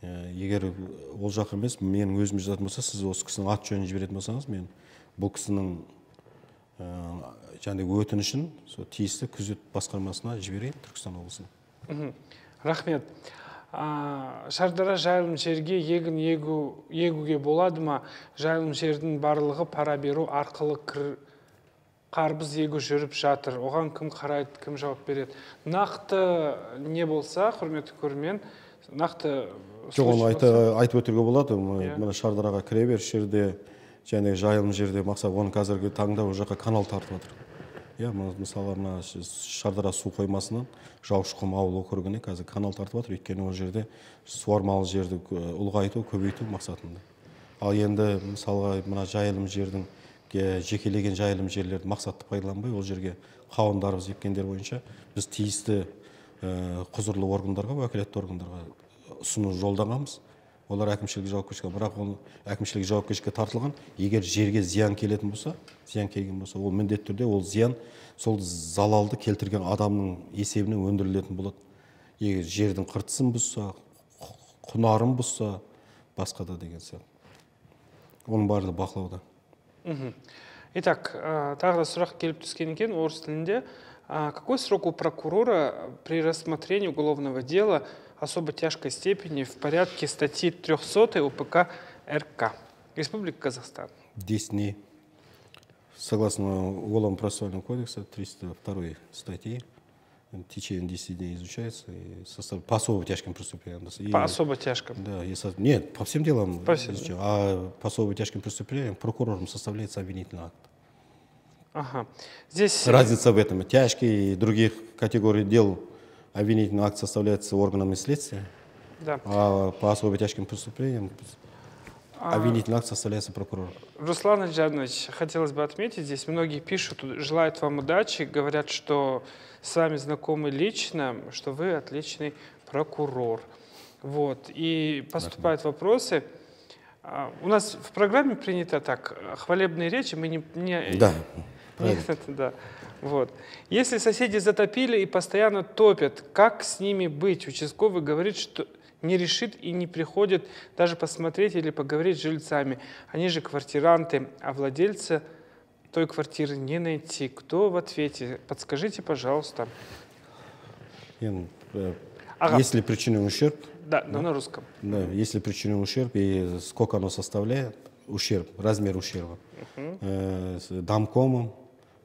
Егер ол жақ емес, менің өзім жазатын болса, сіз осы кісінің ат жөнін жіберетін болсаңыз, мен бұл кісінің өтінішін тиісті күзет басқармасына жіберейін, Түркістан облысына. Рахмет. Шардара жайылым жерге егін егуге болады ма? Жайылым жердің барлығы пара беру арқылы қарбыз егу жүріп жатыр. Оған кім қарайды, кім жауап береді? Нақты не болса, құрметті көрермен, нақты жоқ, оны айтып өтуге болады. Мына Шардараға кіре бер, жерде және жайылым жерде мақсат, оны қазіргі таңда ол жаққа канал тартып жатыр. Мысалы, Шардара су қоймасынан Жаушықұм ауыл округіне қазір канал тартып жатыр, өйткені ол жерде суармалы жерді ұлғайту, көбейту мақсатында. Ал енді мысалға мына жайылым жердің жекелеген жайылым жерлерді мақсатты пайдаланбай, ол жерге қауындарымыз еккендер бойынша біз тиісті құзырлы органдарға, уәкілетті органдарға ұсыну жолдағанбыз. Олар әкімшілік жауапкершілікке, бірақ ол әкімшілік жауапкершілікке тартылған. Егер жерге зиян келетін болса, ол міндетті түрде ол зиян сол залалды келтірген адамның есебінен өндірілетін болады. Егер жердің қыртысын бұзса, құнарын бұзса, басқа да деген сияқты. Оның барлығы бақылауда. Итак, тағы да сұрақ келіп түскен екен орыс тілінде. Какой срок у прокурора при рассмотрении уголовного дела особо тяжкой степени в порядке статьи 300 УПК РК Республики Казахстан? 10 дней. Согласно Уголовно-процессуального кодекса 302 статьи, в течение 10 дней изучается и по особо тяжким преступлениям. По особо тяжким? Да, нет, по всем делам. А по особо тяжким преступлениям прокурором составляется обвинительный акт. Ага. Здесь... Разница в этом. Тяжкие и других категорий дел обвинительный акт составляется органами следствия, да. А по особо тяжким преступлениям обвинительный акт составляется прокурором. Руслан Аджанович, хотелось бы отметить, здесь многие пишут, желают вам удачи, говорят, что с вами знакомы лично, что вы отличный прокурор. Вот. И поступают вопросы. У нас в программе принято так, хвалебные речи, мы не... Да. Да. Вот. Если соседи затопили и постоянно топят, как с ними быть? Участковый говорит, что не решит и не приходит даже посмотреть или поговорить с жильцами. Они же квартиранты, а владельца той квартиры не найти. Кто в ответе? Подскажите, пожалуйста. Если причинен ущерб... Да, на русском. Да, если причинен ущерб и сколько оно составляет, ущерб, размер ущерба, домкомом,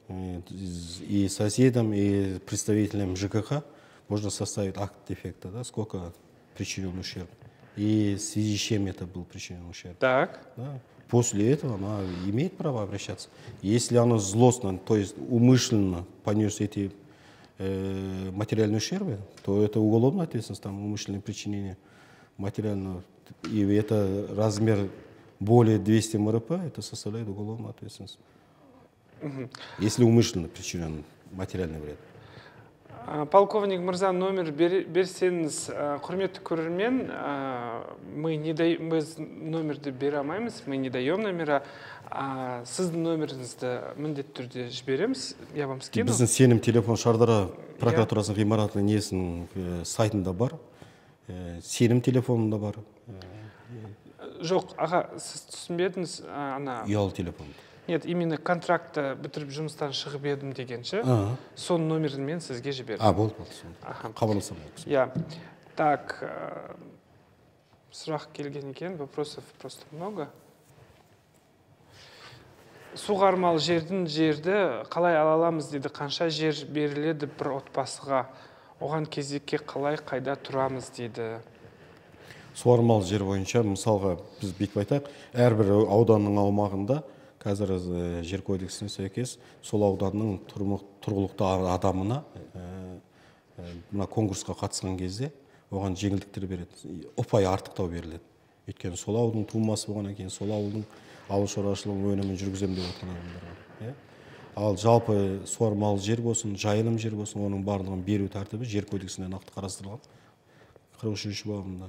и соседям, и представителям ЖКХ можно составить акт дефекта, да, сколько причинен ущерб, и в связи с чем это был причинен ущерб. Так. Да. После этого она имеет право обращаться. Если она злостно, то есть умышленно понес эти материальные ущербы, то это уголовная ответственность, там умышленное причинение материального, и это размер более 200 МРП, это составляет уголовную ответственность. Если умышленно причинен материальный вред. Полковник Мырза, номер берсеңіз, құрметті көрермен, мы номерді бере алмаймыз, мы не даем номера. Сіздің номеріңізді міндетті түрде жібереміз, я вам скину. Біздің сенім телефон Шардара прокуратурасының ғимаратының несінің сайтында бар, сенім телефонында бар. Жоқ, аға, сіз түсінбедіңіз, ұялы телефон. Нет, именно контрактты бітіріп жұмыстан шығып едім дегенше, соның номерін мен сізге жібердім. Болды. Қабылдасам. Я. Так, сұрақ келген екен, вопросов просто много. Суғармалы жерді қалай ала аламыз дейді, қанша жер беріледі бір отбасыға, оған кезекке қалай қайда тұрамыз дейді. Суармалы жер бойынша, мысалға біз бүйтіп айтайық, әрбір ауданның аумағында қазір жер кодексіне сәйкес сол ауданның тұрғылықты адамына мына конкурсқа қатысқан кезде оған жеңілдіктер береді, ұпай артықтау беріледі. Өйткені сол ауылдың тумасы болғаннан кейін сол ауылдың ауыл шаруашылығы өнімін жүргіземін деп отырған адамдар. Ал жалпы суармалы жер болсын, жайылым жер болсын, оның барлығын беру тәртібі жер кодексінде нақты қарастырылған. 43-ші бабында.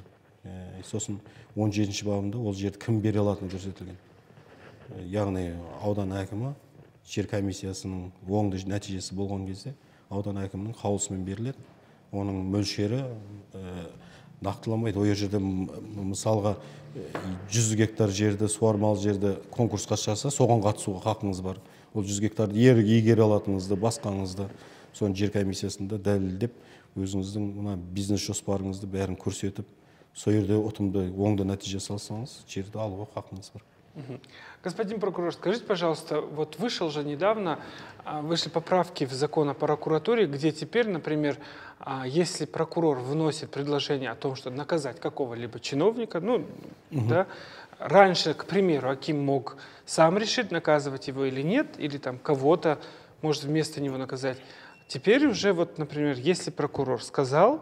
Сосын 17-ші бабында ол жерді кім бере алатыны көрсетілген. Яғни аудан әкімі жер комиссиясының оңды нәтижесі болған кезде аудан әкімінің қаулысымен беріледі. Оның мөлшері нақтыламайды. Ол жерде мысалға 100 гектар жерді, суармалы жерді конкурсқа шығарса, соған қатысуға хақыңыз бар. Ол 100 гектарды игере алатыныңызды, басқаңызды, соны жер комиссиясында дәлелдеп, өзіңіздің бизнес жоспарыңызды бәрін көрсетіп, сол жерде ұтымды оңды нәтиже салсаңыз, жерді алуға хақыңыз бар. Господин прокурор, скажите, пожалуйста, вот вышли поправки в закон о прокуратуре, где теперь, например, если прокурор вносит предложение о том, что наказать какого-либо чиновника, да, раньше, к примеру, аким мог сам решить, наказывать его или нет, или там кого-то может вместо него наказать. Теперь уже, вот, например, если прокурор сказал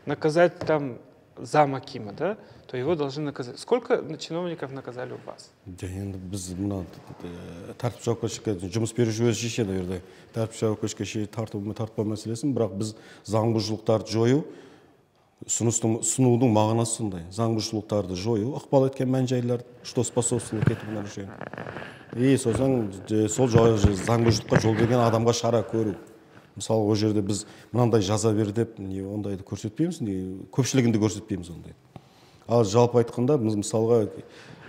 наказать там зам акима, да, то его должны наказать. Сколько чиновников наказали у вас? Біз тәртіп жауапкершілікке жұмыс беруші өзі шешеді жерде. Тәртіп жауапкершілікке тартпау мәселесін, бірақ біз заңбұзушылықтарды жою, ұсынудың мағынасы сондай. Заңбұзушылықтарды жою, ықпал еткен мән-жайлар, что способствовало к этому нарушению. И сосын сол заңбұзушылыққа жол берген адамға шара көру. Мысалы, ол жерде біз мынандай жаза бер деп, ондайды көрсетпейміз, көпшілігінде көрсетпейміз ондайды. Ал жалпы айтқанда, біз мысалға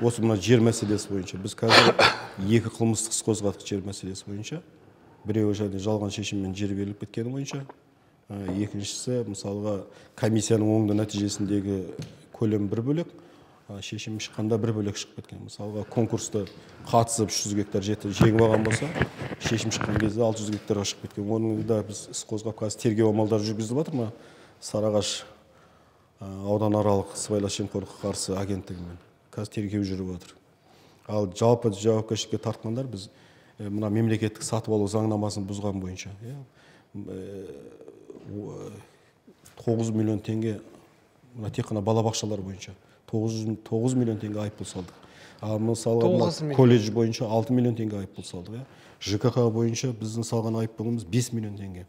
осы мына жер мәселесі бойынша, біз қазір екі қылмыстық іс қозғадық жер мәселесі бойынша. Біреуі және жалған шешіммен жер беріліп кеткені бойынша. Екіншісі, мысалға комиссияның оңды нәтижесіндегі көлем бір бөлек, шешім шыққанда бір бөлек шығып кеткен. Мысалға конкурсты қатысып 300 гектар жеті жеңіп алған болса, шешім шыққан кезде 600 гектарға шығып кеткен. Оның да біз іс қозғап қазір тергеу амалдары жүргізіліп жатыр ма? Сарыағаш ауданаралық сыбайлас жемқорлыққа қарсы агенттігімен қазір тергеу жүріп жатыр. Ал жалпы жауапкершілікке тартқандар біз мына мемлекеттік сатып алу заңнамасын бұзған бойынша 9 миллион теңге тек қана балабақшалар бойынша 9 миллион теңге айыппұл салдық. Ал мысалы колледж бойынша 6 миллион теңге айыппұл салдық. ЖКХ бойынша біздің салған айыппұлымыз 5 миллион теңге.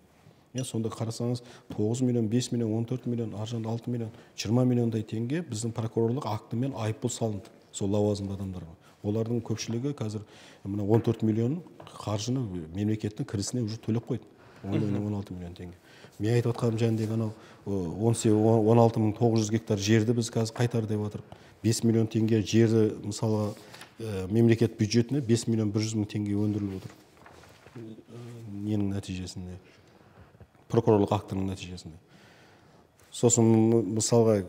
Сонда қарасаңыз 9 миллион, 5 миллион, 14 миллион, аржан 6 миллион, 20 миллиондай теңге біздің прокурорлық актімен айыппұл салынды сол лауазымды адамдарға. Олардың көпшілігі қазір 14 миллион қаржыны мемлекеттің кірісіне уже төлеп қойды. 16 миллион теңге. Мен айтып отқаным жәндегі анау 16.900 гектар жерді біз қазір қайтар деп отырып, 5 миллион теңге жерді мысалға мемлекет бюджетіне 5 миллион 100 мың теңге өндіріліп отыр. Ненің нәтижесінде? Прокурорлық актінің нәтижесінде. Сосын мысалға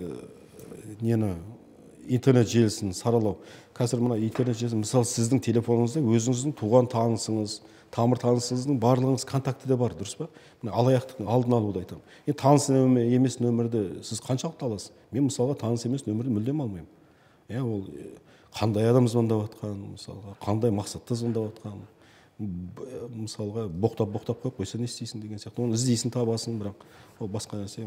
интернет желісін саралау. Қазір мына интернет желісі, мысалы сіздің телефоныңызда өзіңіздің туған танысыңыз, тамыр танысыңыздың барлығыңыз контактіде бар, дұрыс па? Алаяқтықтың алдын алуды айтамын. Таныс емес нөмірді сіз қаншалықты аласыз? Мен мысалға таныс емес нөмірді мүлдем алмаймын. Ол қандай адам звондап жатқан, мысалға, қандай мақсатта звондап жатқан. мысалға боқтап қойып қойса не істейсің деген сияқты. Оны іздейсің, табасың, бірақ ол басқа нәрсе.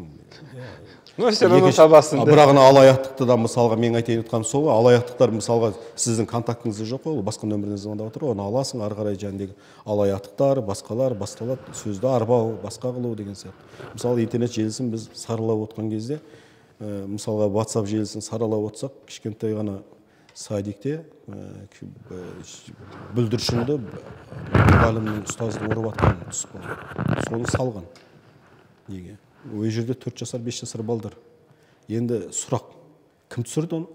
Ну, все равно табасың. Бірақ алаяқтықты да мысалға мен айтайын отқаным сол, алаяқтықтар мысалға сіздің контактыңызда жоқ қой, ол басқа нөмірден звондап отыр, оны аласың, ары қарай жаңағыдегі алаяқтықтар, басқалар басталады, сөзді арбау, басқа қылу деген сияқты. Мысалы интернет желісін біз саралап отқан кезде, мысалға WhatsApp желісін саралап отсақ, кішкентай ғана садикте бүлдіршінді мұғалімнің ұстаздың ұрып атқанын түсіп қалды. Соны салған. Неге? Ол жерде 4 жасар, 5 жасар балдар. Енді сұрақ, кім түсірді оны?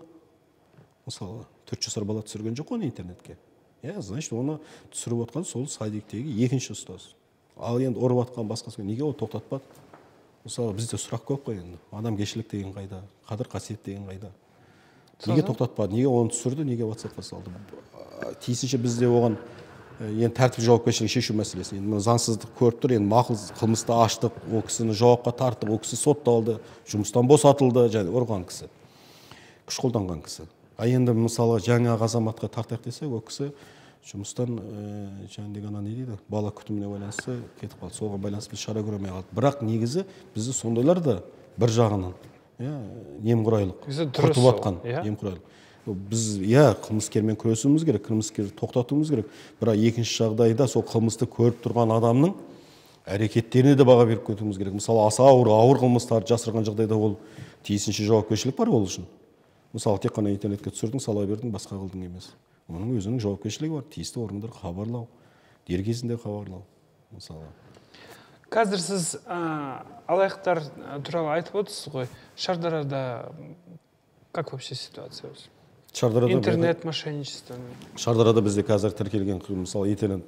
Мысалы, 4 жасар бала түсірген жоқ оны интернетке. Значит, оны түсіріп отқан сол садиктегі екінші ұстаз. Ал енді ұрып атқан басқасы, неге ол тоқтатпады? Мысалы, бізде сұрақ көп қой енді. Адамгершілік деген қайда? Қадір қасиет деген қайда? Неге тоқтатпады? Неге оны түсірді? Неге WhatsApp-қа салды? Тиісінше бізде оған енді тәртіп жауапкершілігі шешу мәселесі. Енді заңсыздық көріп тұр, енді мақұл қылмысты аштық, ол кісіні жауапқа тарттық, ол кісі сотталды, жұмыстан босатылды, және ұрған кісі, күш қолданған кісі. Енді мысалы жаңағы азаматқа тартайық десе, ол кісі жұмыстан жаңағыдегі ана не дейді, бала күтіміне байланысты кетіп қалды. Соған байланысты біз шара көрмей қалдық. Бірақ негізі бізді сондайлар да бір жағынан немқұрайлық, құртып жатқан немқұрайлық. Біз қылмыскермен күресуіміз керек, қылмыскерді тоқтатуымыз керек. Бірақ екінші жағдайда сол қылмысты көріп тұрған адамның әрекеттеріне де баға беріп кетуіміз керек. Мысалы, аса ауыр қылмыстарды жасырған жағдайда ол тиісінше жауапкершілік бар ол үшін. Мысалы, тек қана интернетке түсірдің, сала бердің, басқа қылдың емес. Оның өзінің жауапкершілігі бар. Тиісті органдарға хабарлау, дер кезінде хабарлау. Мысалы. Қазір сіз алаяқтар туралы айтып отырсыз ғой. Шардарада как вообще ситуация? Интернет мошенничество. Шардарада бізде қазір тіркелген, мысалы, интернет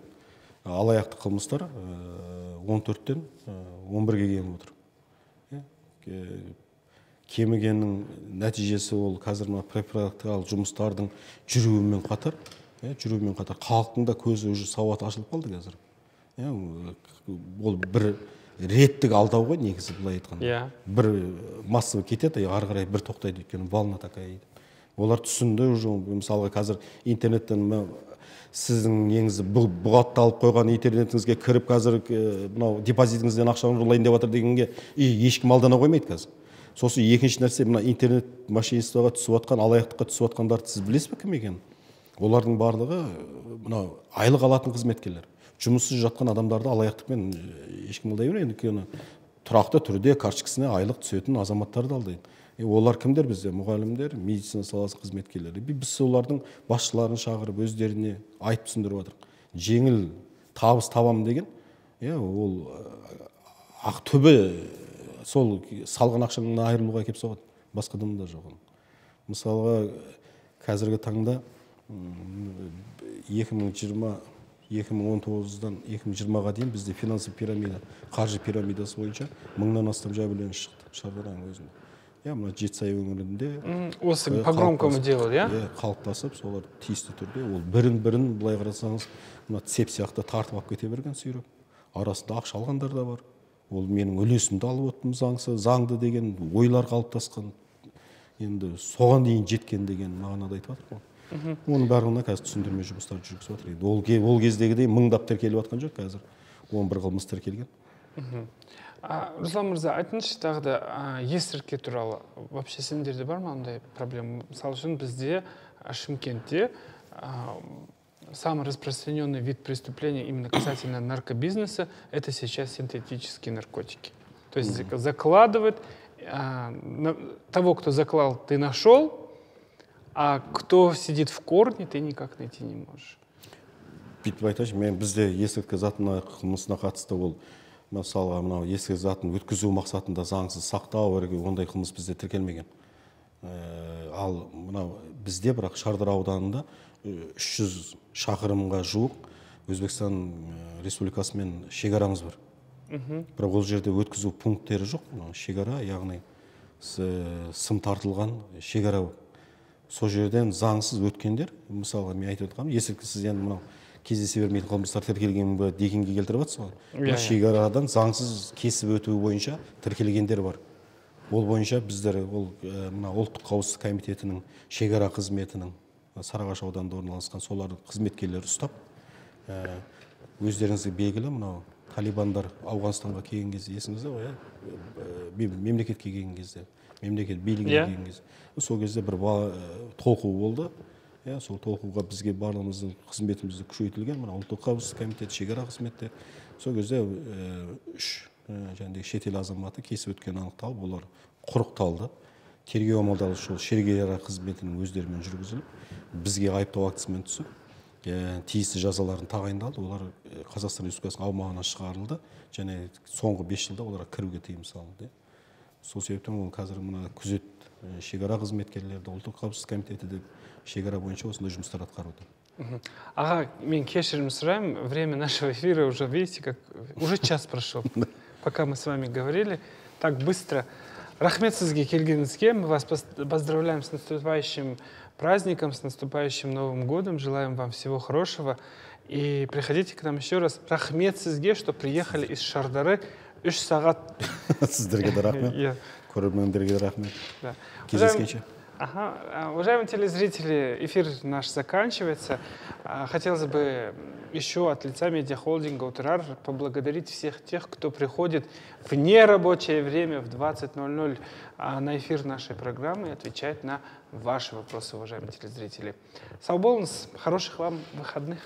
алаяқтық қылмыстар 14-тен 11-ге кеміп отыр. Кемігеннің нәтижесі ол қазір практикалық жұмыстардың жүруімен қатар халықтың да көзі уже сауаты ашылып қалды қазір. Ол бір реттік алдау ғой негізі былай айтқанда. Бір массовый кетеді, ары қарай бір тоқтайды, өйткені волна такая. Олар түсінді уже, мысалға қазір интернеттен сіздің неңізді бұғатталып қойған интернетіңізге кіріп қазір мынау депозитіңізден ақшаны ұрлайын деп жатыр дегенге ешкім алдана қоймайды қазір. Сосын екінші нәрсе, мына интернет мошенничествоға түсіп жатқан, алаяқтыққа түсіп жатқандарды сіз білесіз бе кім екенін? Олардың барлығы мынау айлық алатын қызметкерлер. Жұмыссыз жатқан адамдарды алаяқтықпен ешкім алдай бермейді, өйткені тұрақты түрде карточкасына айлық түсетін азаматтарды алдайды. Олар кімдер бізде? Мұғалімдер, медицина саласы қызметкерлері. Біз олардың басшыларын шақырып, өздеріне айтып түсіндіріп жатырмық. Жеңіл табыс табамын деген, ол ақтөбе сол салған ақшаңнан айырылуға келіп соғады. Басқадан да жоқ. Мысалға, қазіргі таңда 2019-дан 2020-ға дейін бізде финансовый пирамида, қаржы пирамидасы бойынша 1000-нан астам жәбірленуші шықты Шардараның өзінде. Мына Жетісай өңірінде осы по громкому делу, қалыптасып, солар тиісті түрде ол бірін былай қарасаңыз, мына цеп сияқты тартып алып кете берген сүйреп. Арасында ақша алғандар да бар. Ол менің үлесімді алып отырмын заңды деген ойлар қалыптасқан. Енді соған дейін жеткен деген мағынада айтып жатыр ғой. Оның барлығына қазір түсіндірме жұмыстар жүргізіп жатыр. Ол кездегідей мыңдап тіркеліп жатқан жоқ, қазір 11 қылмыс тіркелген. Руслан мырза, айтыңызшы тағы да есірткі туралы. Вообще сендерде бар ма ондай проблема? Мысалы үшін бізде Шымкентте самый распространенный вид преступления именно касательно наркобизнеса – это сейчас синтетические наркотики. То есть закладывают, того, кто заклал, ты нашел, а кто сидит в корне, ты никак найти не можешь. Бүйтіп айтайыншы, мен бізде есірткі затына қылмысына қатысты ол, мысалға мынау есірткі затын өткізу мақсатында заңсыз сақтау, ондай қылмыс бізде тіркелмеген. Ал мынау бізде бірақ Шардара ауданында 300 шақырымға жуық Өзбекстан Республикасымен шекарамыз бар. Бірақ ол жерде өткізу пункттері жоқ. Шекара, яғни сым тартылған шекара. Сол жерден заңсыз өткендер, мысалға мен айтып отырғаным, есірткісіз енді мынау кездесе бермейтін қылмыстар тіркелген бе дегенге келтіріп жатсыз ғой. Шекарадан заңсыз кесіп өтуі бойынша тіркелгендер бар. Ол бойынша біздер ұлттық қауіпсіздік комитетінің шекара қызметінің Сарыағаш ауданында орналасқан солардың қызметкерлері ұстап, өздеріңізге белгілі мынау талибандар Ауғанстанға келген кезде есіңізде ғой, иә? Мемлекетке келген кезде, мемлекет билігіне келген кезде. Сол кезде бір толқу болды. Сол толқуға бізге барлығымыздың қызметімізді күшейтілген, мына ұлттық қауіпсіздік комитеті, шекара қызметі. Сол кезде 3 шетел азаматы кесіп өткені анықталып, олар құрықталды. Тергеу амалдары сол шекара қызметінің өздерімен жүргізіліп, бізге айыптау актісімен түсіп, тиісті жазаларын тағайындалды. Олар Қазақстан Республикасының аумағынан шығарылды, және соңғы 5 жылда оларға кіруге тыйым салынды. Сол себептен ол қазір мына күзет шекара қызметкерлері, ұлттық қауіпсіздік комитеті деп шекара бойынша осындай жұмыстар атқаруда. Аға, мен кешірім сұраймын, время нашего эфира уже, видите, как уже час прошел. Пока мы с вами говорили, так быстро. Рахмет сізге келгеніңізге, мы вас поздравляем с наступающим праздником, с наступающим Новым годом, желаем вам всего хорошего. И приходите к нам еще раз. Рахмет сізге, что приехали из Шардары 3 сағат. Сіздерге де рахмет. Көрермендерге де рахмет. Кездескенше. Уважаемые телезрители, эфир наш заканчивается. Хотелось бы еще от лица медиахолдинга «Утрар» поблагодарить всех тех, кто приходит в нерабочее время в 20:00 на эфир нашей программы и отвечает на ваши вопросы, уважаемые телезрители. Сау болыңыз, хороших вам выходных.